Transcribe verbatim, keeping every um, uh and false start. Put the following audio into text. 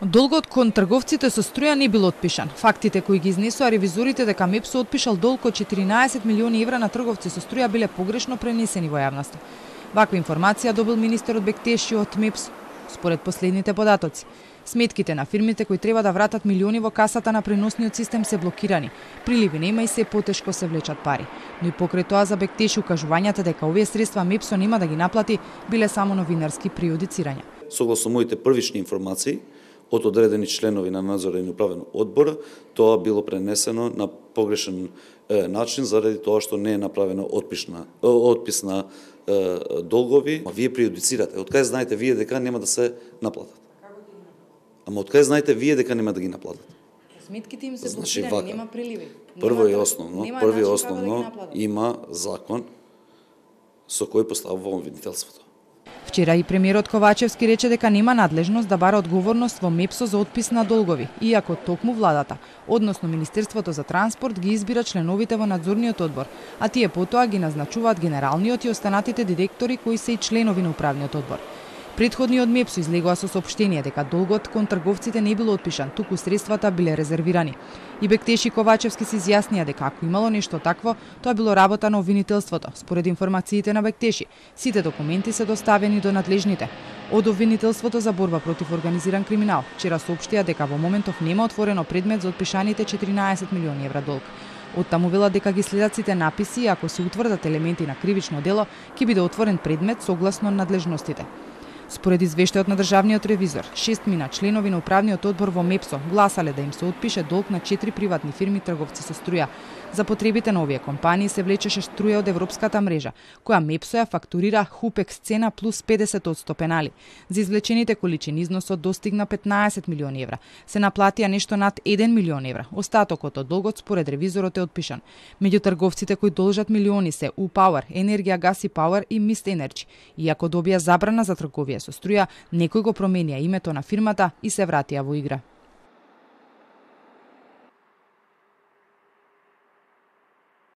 Долгот кон трговците со струја не бил отпишан. Фактите кои ги изнесоа ревизорите дека МЕПСО отпишал долг од четиринаесет милиони евра на трговци со струја биле погрешно пренесени во јавноста. Ваква информација добил министерот Бектеши од МЕПСО. Според последните податоци, сметките на фирмите кои треба да вратат милиони во касата на преносниот систем се блокирани. Приливи нема и се потешко се влечат пари. Но и покрај тоа за Бектеши укажувањата дека овие средства МЕПСО нема да ги наплати биле само новинарски приодицирања. Согласно моите првични информации од одредени членови на надзорен и управен одбор, тоа било пренесено на погрешен е, начин заради тоа што не е направена отписна отписна е, долгови. А вие приодицирате. Од кај знаете вие дека нема да се наплатат? Ама од кај знаете вие дека нема да ги наплатат? Сметките им се Значи, блокирани, вака. нема приливи. Прво и Нема- основно, нема прво и начин како основно да ги наплатат. има закон со кој поставува обвинителството. Вчера и премиерот Ковачевски рече дека нема надлежност да бара одговорност во МЕПСО за отпис на долгови, иако токму владата, односно Министерството за транспорт ги избира членовите во надзорниот одбор, а тие потоа ги назначуваат генералниот и останатите директори кои се и членови на управниот одбор. Претходниот МЕПСО излегува со соопштение дека долгот кон трговците не бил отпишан, туку средствата биле резервирани. И Бектеши и Ковачевски се изјаснија дека ако имало нешто такво, тоа било работа на обвинителството. Според информациите на Бектеши, сите документи се доставени до надлежните. Од обвинителството за борба против организиран криминал вчера соопштија дека во моментов нема отворено предмет за отпишаните четиринаесет милиони евра долг. Оттаму велат дека ги следат сите написи и ако се утврдат елементи на кривично дело, ќе биде отворен предмет согласно надлежностите. Според извештајот на државниот ревизор, шестмина членови на управниот одбор во МЕПСО гласале да им се отпише долг на четири приватни фирми трговци со струја. За потребите на овие компании се влечеше струја од европската мрежа, која МЕПСО ја фактурира Хупекс цена плюс педесет одсто пенали. За извлечените количини износот достигна петнаесет милиони евра. Се наплатија нешто над еден милион евра. Остатокот од долгот според ревизорот е отпишан. Меѓу трговците кои должат милиони се U-Power, Енергија Газ и Power и Mist Energy. Иако добија забрана за трговија со струја, некој го променија името на фирмата и се вратија во игра.